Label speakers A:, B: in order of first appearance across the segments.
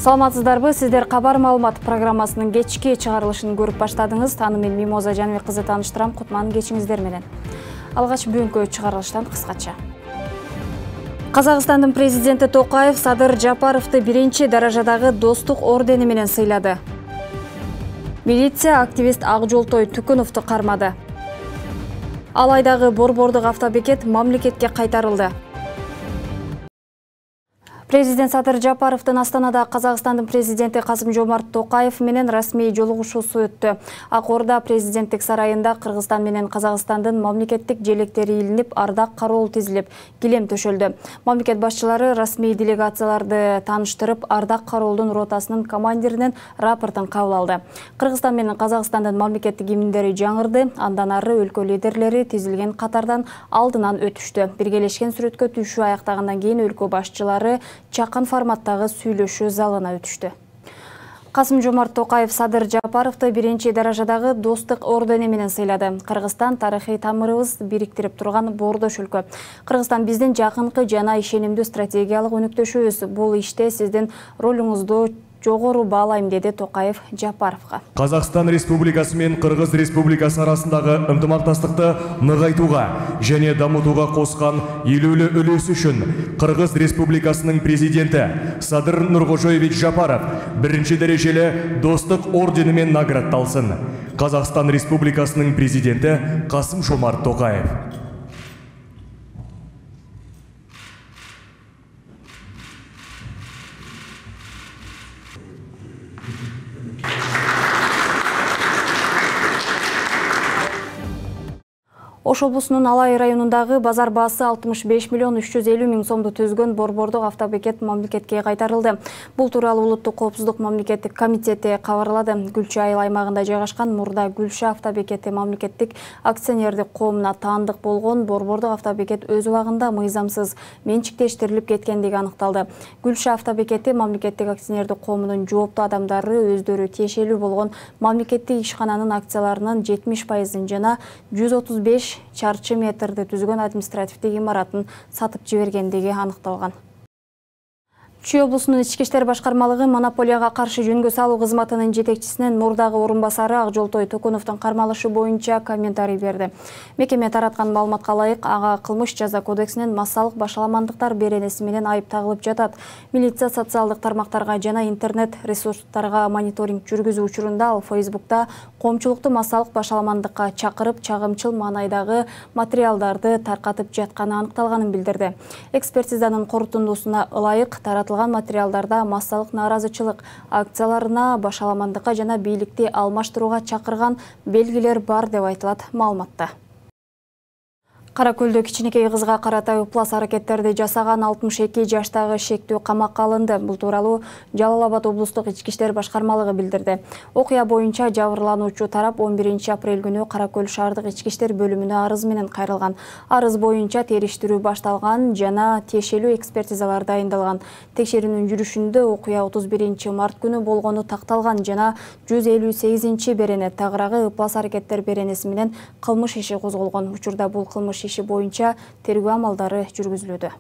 A: Саламатсыздарбы, сиздер кабар маалымат программасынын кечки чыгарылышын көрүп баштадыңыз. Аны мен Мимоза Жаныбек кызы тааныштырам. Кутман кечиңиздер менен. Алгач бүгүнкү чыгарылыштан кыскача. Казакстандын президенти Токаев Садыр Жапаровду биринчи даражадагы достук ордени менен сыйлады. Милиция активист Акжолтой Түкүновду кармады. Алайдагы борбордук автобекет мамлекетке кайтарылды. Президент Садыр Жапаровдун Астанада Казакстандын президенти Касым-Жомарт Токаев менен расмий жолугушуусу өттү. Ак Орда президенттик сарайында Кыргызстан менен Казакстандын мамлекеттик желектери илинип, ардак кароол тизилип, килем төшөлдү. Мамлекет башчылары расмий делегацияларды тааныштырып, ардак кароолдун ротасынын командиринин рапортун кабыл алды. Кыргызстан менен Казакстандын мамлекеттик гимндери жаңырды, андан ары өлкө лидерлери тизилген катардан алдынан өтүштү. Биргелешкен сүрөткө түшүү аяктагандан кийин өлкө башчылары чакан форматтагы сүйлөшүү залына өтүштү. Касым-Жомарт Токаев Садыр Жапаровду биринчи даражадагы достук ордени менен сыйлады. Кыргызстан тарыхый тамырыбыз бириктирип турган боордош өлкө. Кыргызстан биздин жакынкы жана ишенимдүү стратегиялык өнөктөшүбүз. Бул иште сиздин ролуңузду жогору баалайм, деди Токаев Жапаровго.
B: Казакстан Республикасы менен Кыргыз Республикасы арасындагы ынтымакташтыкты нығайтууга және дамытууга коскан элүүлүү үлесү үчүн Кыргыз Республикасынын президенти Садыр Нуркожоевич Жапаров биринчи дарежелүү достук ордени менен наградталсын. Казакстан Республикасынын президенти Касым-Жомарт Токаев.
A: Ош облусунун Алай районундагы базар баасы 65 миллион 350 миң сомду түзгөн борбордук автобекет мамлекетке кайтарылды. Бул тууралуу Улуттук коопсуздук мамлекеттик комитети кабарлады. Гүлчү айыл аймагында жайгашкан Мурда Гүлчү автобекети мамлекеттик акционердик коомуна таандык болгон борбордук автобекет өз убагында мыйзамсыз менчиктештирилип кеткендиги аныкталды. Гүлчү автобекети мамлекеттик акционердик коомунун жооптуу адамдары өздөрү тиешелүү болгон мамлекеттик ишкананын акцияларынын 70% жана 135 чарчы метрди түзгөн административдик имаратын сатып жибергендиги аныкталган. Чүй облусунун ички иштер башкармалыгы монополияга каршы жөнгө салуу кызматынын жетекчисинин Мурдагы орунбасары Акжолтой Түкүновдун кармалышы боюнча комментарий берди. Мекеме тараткан маалыматка ылайык, ага кылмыш жаза кодексинин массалык башаламандыктар беренеси менен айып тагылып жатат. Милиция социалдык тармактарга жана интернет ресурстарга мониторинг жүргүзүү учурунда ал Facebook'та коомчулукту массалык башаламандыкка чакырып, чагымчыл маанайдагы материалдарды таркатып жатканы аныкталганын билдирди. Экспертизанын корутундусуна ылайык таратылган материалдарда массалык нааразычылык акцияларына, башаламандыкка жана бийликти алмаштырууга чакырган белгилер бар деп айтылат маалыматта. Каракөлдө кичинекей кызга карата ыплас аракеттерди жасаган 62 жаштагы шектүү камакка алынды. Бул тууралуу Жалал Абад облустук ички иштер башкармалыгы билдирди. Окуя боюнча жабырлануучу тарап 11 апрель күнү Каракөл шаардык ички иштер бөлүмүнө арыз менен кайрылган. Арыз боюнча териштирүү башталган жана тиешелүү экспертизалар дайындалган. Текшерүүнүн жүрүшүндө окуя 31 март күнү болгону такталган жана 158 берене тагыраагы ыплас аракеттер беренеси менен кылмыш иши козголгон. Учурда бул кылмыш иши боюнча тергөө амалдары жүргүзүлүүдө.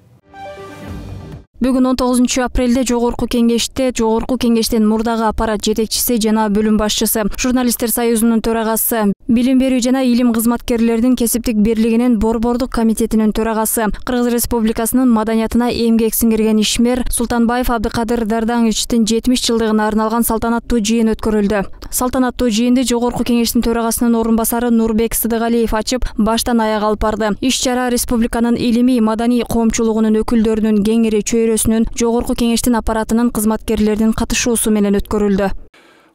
A: Бүгүн 19 апрелде Жогорку кеңештен Мурдагы аппарат жетекчиси жана бөлүм башчысы, Журналисттер союзунун төрагасы, Билим берүү жана илим кызматкерлердин кесиптик бирлигинин борбордук комитетинин төрагасы, Кыргыз Республикасынын маданиятына эмгек сиңирген ишмер Султанбаев Абдыкадыр Дардановичтин 70 жылдыгына арналган салтанаттуу жыйын өткөрүлдү. Салтанаттуу жыйынды Жогорку кеңештин төрагасынын орун басары Нурбек Сыдыгалиев ачып, баштан аяк алып барды. Иш-чара республиканын илимий маданий коомчулугунун өкүлдөрүнүн кеңири чөйрөсүнүн Жогорку кеңештин аппаратынын кызматкерлеринин катышуусу менен өткөрүлдү.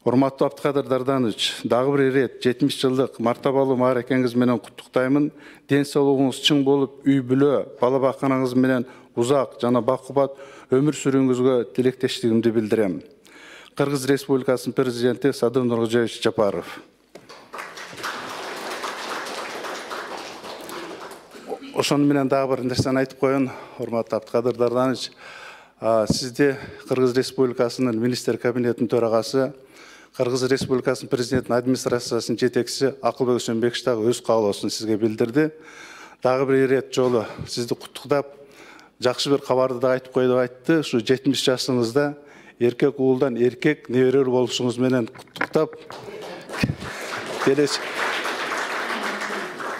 C: Урматтуу Абдыкадыр Дарданович, дагы бир ирет 70 жылдык мартабалуу мааракеңиз менен куттуктаймын. Ден соолугуңуз чың болуп, үй бүлө, бала бакканыңыз менен узак жана бакубат өмүр сүрүүңүзгө тилектештигимди билдирем. Кыргыз Республикасынын президенти Садыр Нуркожоевич Жапаров. Ошону менен дагы бир нерсени айтып коеюн, урматтуу Абдыкадыр Дарданович. Сизди Кыргыз Республикасынын министр кабинетинин төрагасы, Кыргыз Республикасынын президентинин администрациясынын жетекчиси Акылбек Өсөнбекович дагы өз каалоосун сизге билдирди. Дагы бир ирет жолу сизди куттуктап, жакшы бир кабарды да айтып коюп айтты. Ушу 70 жашыңызда эркек уулдан эркек неберелер болушуңуз менен куттуктап,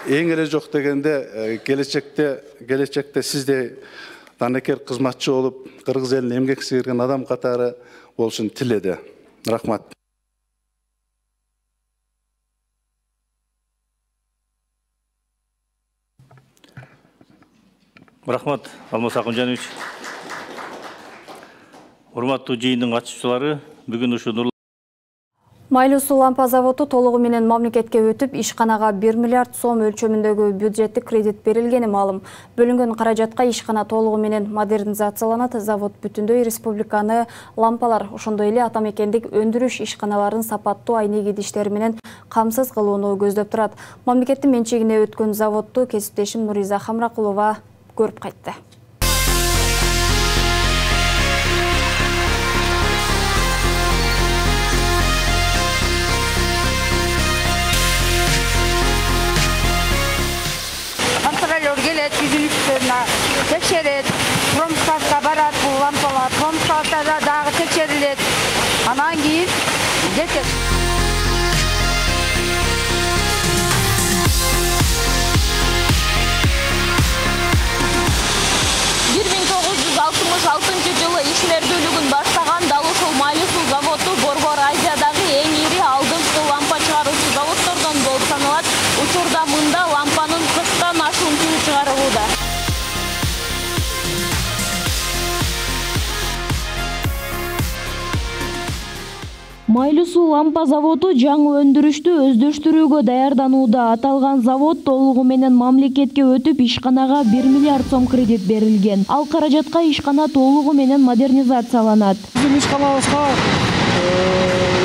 C: эң эле жок дегенде келечекте сиздей данекер кызматчы болуп, кыргыз элине эмгек сіңірген адам катары болушун тиледи. Рахмат.
D: Рахмат, Алмаз Акунжанович. Урматтуу жыйындын катышуучулары, бүгүн ушу
A: Майлуу суу лампа заводу толугу менен мамлекетке өтүп, ишканага 1 миллиард сом өлчөмүндөгү бюджеттик кредит берилгени маалым. Бөлүнгөн каражатка ишкана толугу менен модернизацияланат. Завод бүтүндөй республиканы лампалар, ошондой эле атамекендик өндүрүш ишканаларын сапаттуу айнек идиштери менен камсыз кылууну көздөп турат. Мамлекеттин менчигине өткөн заводду кесиптешим Нуриза Хамракулова көрүп кайтты.
E: Келет, үзүлүштөрүнө текшерет, промскатка барат, бул лампалар промскатта дагы текшерилет. Анан кийин жетет.
F: 1966 жылы ишмердүүлүгүн баштаган дал ушул Майлуу суу заводу Борбор Азиядагы эң ири алдыңкы лампа чыгаруучу заводдордон болуп саналат. Учурда мында лампанын 40тан ашуун түрү чыгарылууда.
G: Майлуу суу лампа заводу жаңы өндүрүштү өздөштүрүүгө даярданууда. Аталган завод толугу менен мамлекетке өтүп, ишканага 1 миллиард сом кредит берилген. Ал каражатка ишкана толугу менен модернизацияланат.
H: Биздин ишканабызга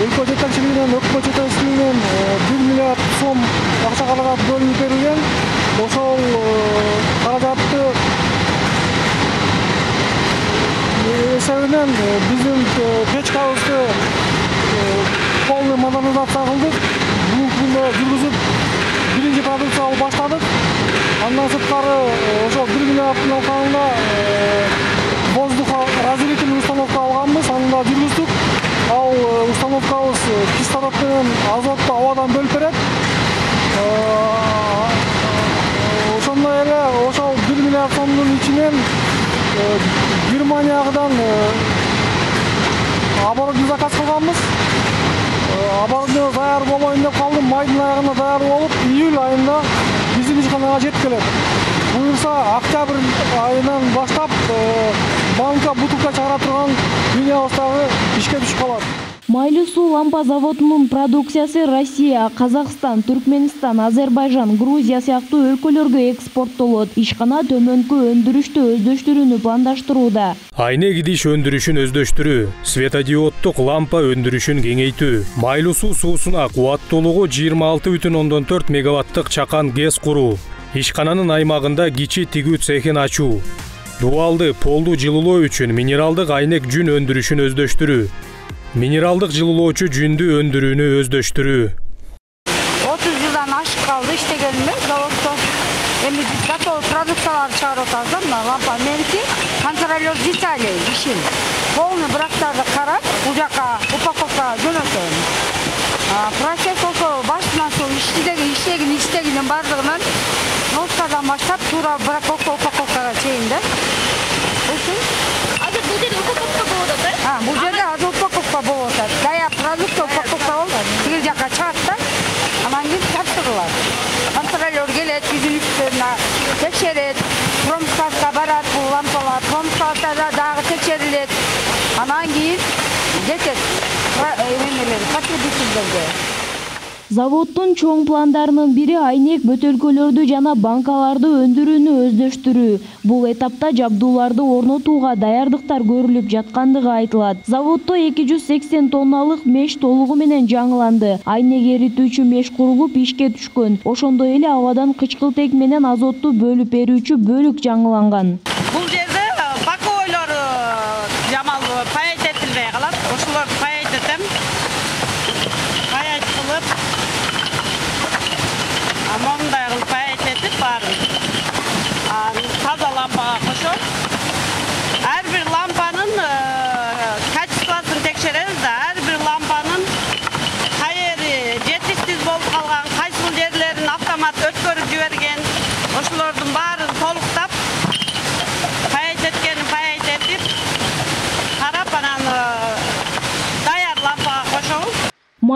H: өлкө жетекчилигинен, өкмөт жетекчилигинен 1 миллиард сом акча каражат бөлүнүп берилген. Ошол каражатты эсебинен биздин печкабызды полный модернизация кылдык. Бул жүргүзүп, биринчи продукцияны баштадык. Андан сырткары ошол 1 миллиарддын алкагында воздухоразделительный установка алганбыз, аны да жүргүздүк. Ал установкабыз кислород менен азотту абадан бөлүп берет. Ошондой эле ошол 1 миллиард сомдун ичинен Германиядан оборудование заказ кылганбыз. Оборудование даяр болоюн деп калдым. Майдын аягында даяр болуп, июль айында биздин ишканага жетип келет. Буюрса, октябрь айынан баштап банка бутылка чыгара турган линиябыз дагы ишке түшүп калат.
G: Майлуу суу лампа заводунун продукциясы Россия, Казакстан, Түркменистан, Азербайжан, Грузия сыяктуу өлкөлөргө экспорттолот. Ишкана төмөнкү өндүрүштү өздөштүрүүнү пландаштырууда.
I: Айнек идиш өндүрүшүн өздөштүрүү, светодиоддук лампа өндүрүшүн кеңейтүү, майлуу суу суусуна кубаттуулугу 26,4 мегаваттык чакан ГЭС куруу, ишкананын аймагында кичи тигүү цехин ачуу, дуалды полдуу жылуулоо үчүн минералдык айнек жүн өндүрүшүн өздөштүрүү, минералдык жылуулоочу жүндү өндүрүүнү өздөштүрүү.
E: 30 жылдан ашып калды иштегениме заводдо. Эми готовый продукциялар чыгарып атабыз, мына лампа меники, контролер деталей ишин. Полный брактарды карап, бул жака упаковка жөнөтөм. Процесс ошо башынан сол иштегенин бардыгынан носкадан баштап туура упаковкага чейин да. Ушул
F: Азыр бул жерде упаковка болот да?
E: Бул жерде азыр упаковка болот. Даяр продукт упаковка болот. Тигил жака чыгат да. Анан кийин тапшырылат. Контролер келет, үзүлүштөрүнө текшерет, промскатка барат, бул лампалар промскатта дагы текшерилет. Анан кийин жетет потребительдерге.
G: Заводдун чоң пландарынын бири айнек бөтөлкөлөрдү жана банкаларды өндүрүүнү өздөштүрүү. Бул этапта жабдууларды орнотууга даярдыктар көрүлүп жаткандыгы айтылат. Заводдо 280 тонналык меш толугу менен жаңыланды. Айнек эритүүчү меш курулуп ишке түшкөн. Ошондой эле абадан кычкылтек менен азотту бөлүп берүүчү бөлүк жаңыланган.
J: Бул жерде баковойлор жамал паять этилбей калат. Ошолорду паять этем. Паять кылып, мондай кылып паять этип баарын таза лампага кошом. Ар бир лампанын качествосын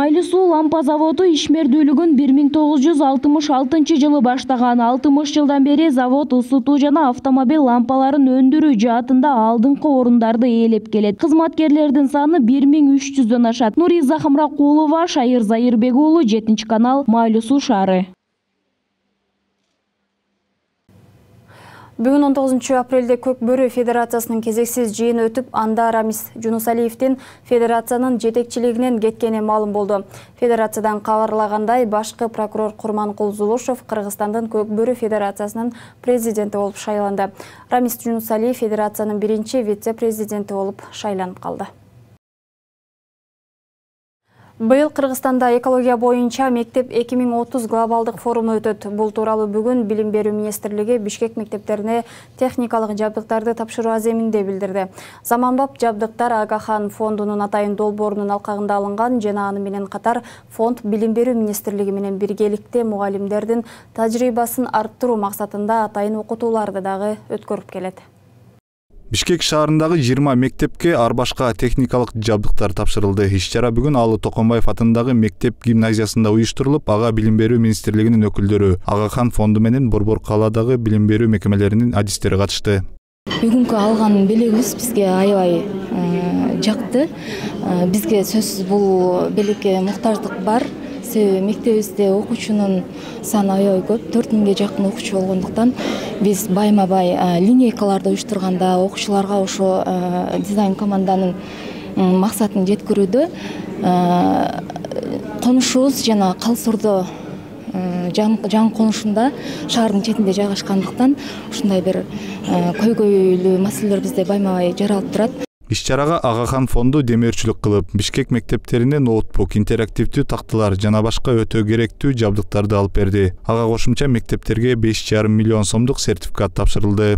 G: Майлуу суу лампа заводу ишмердүүлүгүн 1966 жылы баштаган. 60 жылдан бери завод ысытуу жана автомобиль лампаларын өндүрүү жаатында алдыңкы орундарды ээлеп келет. Кызматкерлердин саны 1300дөн ашат. Нуриза Хамракулова, Шайыр Зайырбек уулу, 7 канал, Майлуу суу шаары.
A: Бүгүн 19 апрелде Көк Бөрү Федерациясынын кезексиз жыйыны өтүп, анда Рамис Жунусалиевдин федерациянын жетекчилигинен кеткени маалым болду. Федерациядан кабарлагандай, башкы прокурор Курманкул Зулушев Кыргызстандын Көк Бөрү Федерациясынын президенти болуп шайланды. Рамис Жунусалиев федерациянын биринчи вице-президенти болуп шайланып калды. Быйыл Кыргызстанда экология боюнча мектеп 2030 глобалдык форуму өтөт. Бул тууралуу бүгүн Билим берүү министрлиги Бишкек мектептерине техникалык жабдыктарды тапшыруу аземинде билдирди. Заманбап жабдыктар Агахан фондунун атайын долбоорунун алкагында алынган жана аны менен катар фонд Билим берүү министрлиги менен биргеликте мугалимдердин тажрыйбасын арттыруу максатында атайын окутууларды дагы өткөрүп келет.
K: Бишкек шаарындагы 20 мектепке ар башка техникалык жабдыктар тапшырылды. Иш-чара бүгүн Алы Токомбаев атындагы мектеп гимназиясында уюштурулуп, ага Билим берүү министрлигинин өкүлдөрү, Агахан фонду менен Борбор калаадагы билим берүү мекемелеринин адистери катышты.
L: Бүгүнкү алган белегибиз бизге аябай жакты. Бизге сөзсүз бул белекке муктаждык бар. Мектебибизде окуучунун саны аябай көп, 4000ге жакын окуучу болгондуктан биз байма-бай линейкаларды уюштурганда окуучуларга ошо дизайн команданын максатын жеткирүүдө конушубуз жана Калсурдо жан конушунда шаардын четинде жайгашкандыктан ушундай бир көйгөйлүү маселелер бизде байма-бай жаралып турат.
K: Иш-чарага Агахан фонду демөөрчүлүк кылып, Бишкек мектептерине ноутбук, интерактивдүү такталар жана башка өтө керектүү жабдыктарды алып берди. Ага кошумча мектептерге 5,5 миллион сомдук сертификат тапшырылды.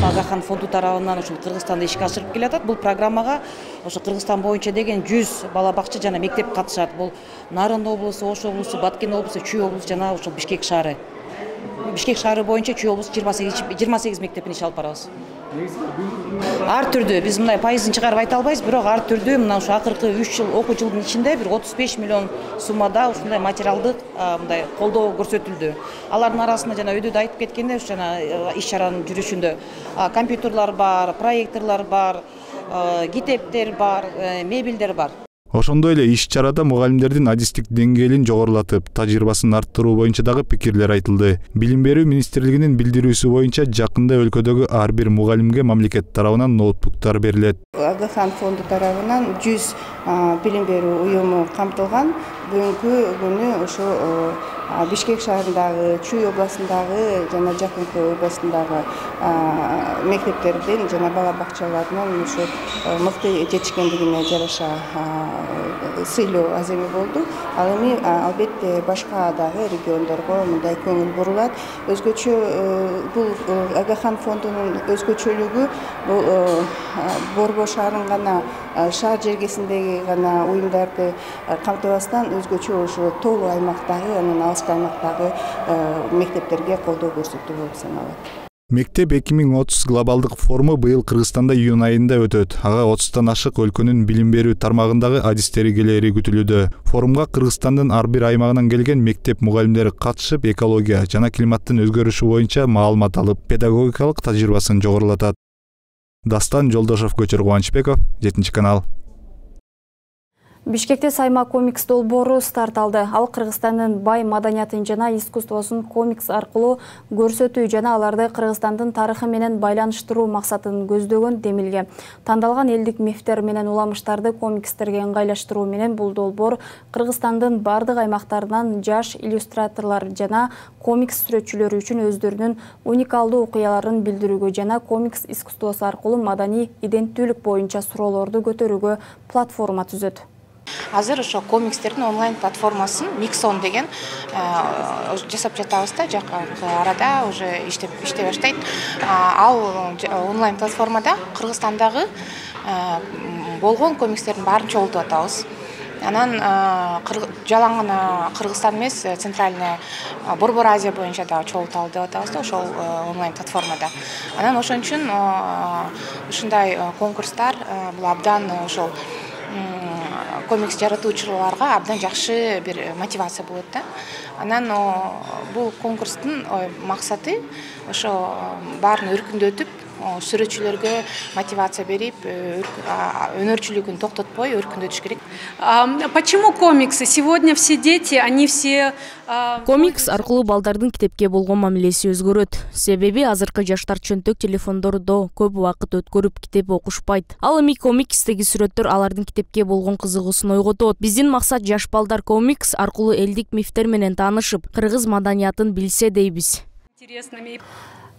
M: Агахан фонду тарабынан ушул Кыргызстанда ишке ашырып келатат. Бул программага ошо Кыргызстан боюнча деген 100 бала бакча жана мектеп катышат. Бул Нарын облусу, Ош облусу, Баткен облусу, Чүй облусу жана ошол Бишкек шаары. Бишкек шаары боюнча Чүй облусу 28 мектептин иш алып барабыз. Ар түрдүү биз мындай пайызын чыгарып айта албайбыз, бирок ар түрдүү мына ушу акыркы 3 жыл окуу жылдын ичинде бир 35 миллион суммада ушундай материалдык мындай колдоо көрсөтүлдү. Алардын арасында жана өйдө айтып кеткенде ушу жана иш-чаранын жүрүшүндө компьютерлар бар, проекторлор бар, китептер бар, мебелдер бар.
K: Ошондой эле иш-чарада мугалимдердин адистик деңгээлин жогорулатып, тажрыйбасын арттыруу боюнча дагы пикирлер айтылды. Билим берүү министрлигинин билдирүүсү боюнча жакында өлкөдөгү ар бир мугалимге мамлекет тарабынан ноутбуктар берилет.
N: Агахан фонду тарабынан 100 билим берүү уюму камтылган. Бүгүнкү күнү ошо Бишкек шаарындагы, Чүй областындагы жана жакынкы областындагы мектептердин жана бала бакчаларынын ушу мыкты жетишкендигине жараша сыйлоо аземи болду. Ал эми албетте башка дагы региондорго мындай көңүл бурулат. Өзгөчө бул Агахан фондунун өзгөчөлүгү бул Борбор шаарынын гана шаар жергесиндеги гана уюмдарды камтыбастан өзгөчө ошо тоолуу аймактагы, анан алыскы аймактагы мектептерге колдоо көрсөтүү болуп саналат.
K: Мектеп 2030 глобалдык форуму быйыл Кыргызстанда июнь айында өтөт. Ага 30тан ашык өлкөнүн билим берүү тармагындагы адистери келери күтүлүүдө. Форумга Кыргызстандын ар бир аймагынан келген мектеп мугалимдери катышып, экология жана климаттын өзгөрүшү боюнча маалымат алып, педагогикалык тажрыйбасын жогорулатат. Дастан Жолдошов, Көчөр Кубанычбеков, 7 канал.
A: Бишкекте Сайма комикс долбоору старт алды. Ал Кыргызстандын бай маданиятын жана искусствосун комикс аркылуу көрсөтүү жана аларды Кыргызстандын тарыхы менен байланыштыруу максатын көздөгөн демилге. Тандалган элдик мифтер менен уламыштарды комикстерге ыңгайлаштыруу менен бул долбоор Кыргызстандын бардык аймактарынан жаш иллюстраторлор жана комикс сүрөтчүлөрү үчүн өздөрүнүн уникалдуу окуяларын билдирүүгө жана комикс искусствосу аркылуу маданий иденттүүлүк боюнча суроолорду көтөрүүгө платформа түзөт.
O: Азыр ошо комикстердин онлайн платформасын Mixon деген жасап жатабыз да, жакынкы арада уже иштей баштайт. Ал онлайн платформада Кыргызстандагы болгон комикстердин баарын чогултуп атабыз. Анан жалаң гана Кыргызстан эмес, Центральная Борбор Азия боюнча да чогулталы деп атабыз да, ошол онлайн платформада. Анан ошон үчүн ушундай конкурстар бул абдан ошол комикс жаратуучуларга абдан жакшы бир мотивация болот да. Анан бул конкурстун максаты ошо баарын өркүндөтүп, сүрөтчүлөргө мотивация берип, өнөрчүлүгүн токтотпой өркүндөтүш керек.
P: Почему комиксы? Сегодня все дети, они все...
G: Комикс аркылуу балдардын китепке болгон мамилеси өзгөрөт. Себеби азыркы жаштар чөнтөк телефондордо көп убакыт өткөрүп китеп окушпайт. Ал эми комикстеги сүрөттөр алардын китепке болгон кызыгуусун ойготот. Биздин максат жаш балдар комикс аркылуу элдик мифтер менен таанышып, кыргыз маданиятын билсе дейбиз.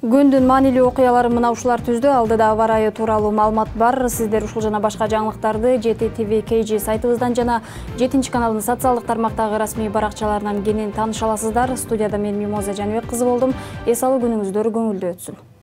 A: Күндүн маанилүү окуялары мына ушулар түздү. Алдыда аба ырайы тууралуу маалымат бар. Сиздер ушул жана башка жаңылыктарды GTTV KG сайтыбыздан жана 7-каналдын социалдык тармактагы расмий баракчаларынан кенен тааныша аласыздар. Студияда мен Мимоза Жаныбек кызы болдум. Эс алуу күнүңүздөр көңүлдүү өтсүн.